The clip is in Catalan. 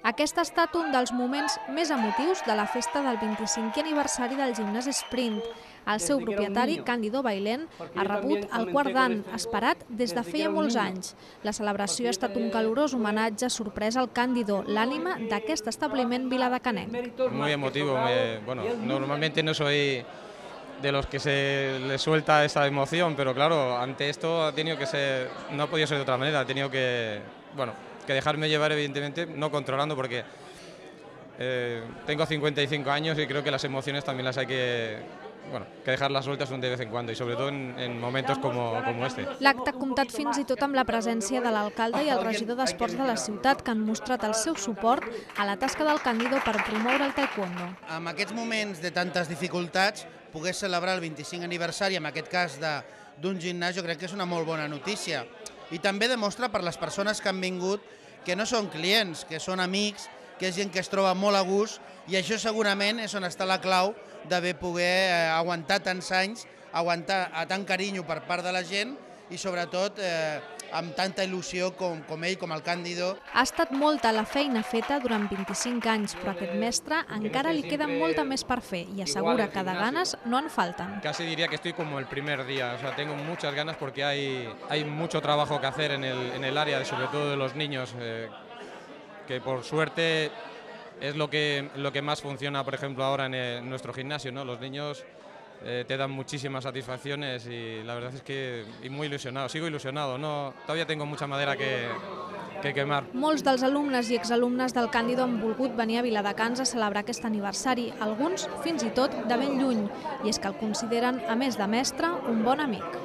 Aquest ha estat un dels moments més emotius de la festa del 25è aniversari del gimnàs Sprint. El seu propietari, Cándido Bailén, ha rebut el quart dan, esperat des de feia molts anys. La celebració ha estat un calorós homenatge sorpresa al Cándido, l'ànima d'aquest establiment viladecanenc. Muy emotivo. Bueno, normalmente no soy de los que se les suelta esa emoción, pero claro, ante esto ha tenido que ser, no ha podido ser de otra manera, ha tenido que, bueno, que dejarme llevar, evidentemente, no controlando, porque tengo 55 años y creo que las emociones también las hay que dejarlas sueltas de vez en cuando, y sobre todo en momentos como este. L'acte ha comptat fins i tot amb la presència de l'alcalde i el regidor d'Esports de la ciutat, que han mostrat el seu suport a la tasca del Cándido per promoure el taekwondo. En aquests moments de tantes dificultats, poder celebrar el 25 aniversari, en aquest cas d'un gimnàs, jo crec que és una molt bona notícia. I també demostra per les persones que han vingut que no són clients, que són amics, que és gent que es troba molt a gust, i això segurament és on està la clau d'haver poder aguantar tants anys, aguantar a tant carinyo per part de la gent i sobretot amb tanta il·lusió com ell, com el Cándido. Ha estat molta la feina feta durant 25 anys, però a aquest mestre encara li queda molta més per fer i assegura que de ganes no en falten. Casi diría que estoy como el primer día, o sea, tengo muchas ganas porque hay mucho trabajo que hacer en el área, sobre todo de los niños, que por suerte es lo que más funciona, por ejemplo, ahora en nuestro gimnasio, ¿no? Los niños te dan muchísimas satisfacciones y la verdad es que muy ilusionado, sigo ilusionado, no, todavía tengo mucha madera que quemar. Molts dels alumnes i exalumnes del Cándido han volgut venir a Viladecans a celebrar aquest aniversari, alguns fins i tot de ben lluny, i és que el consideren, a més de mestre, un bon amic.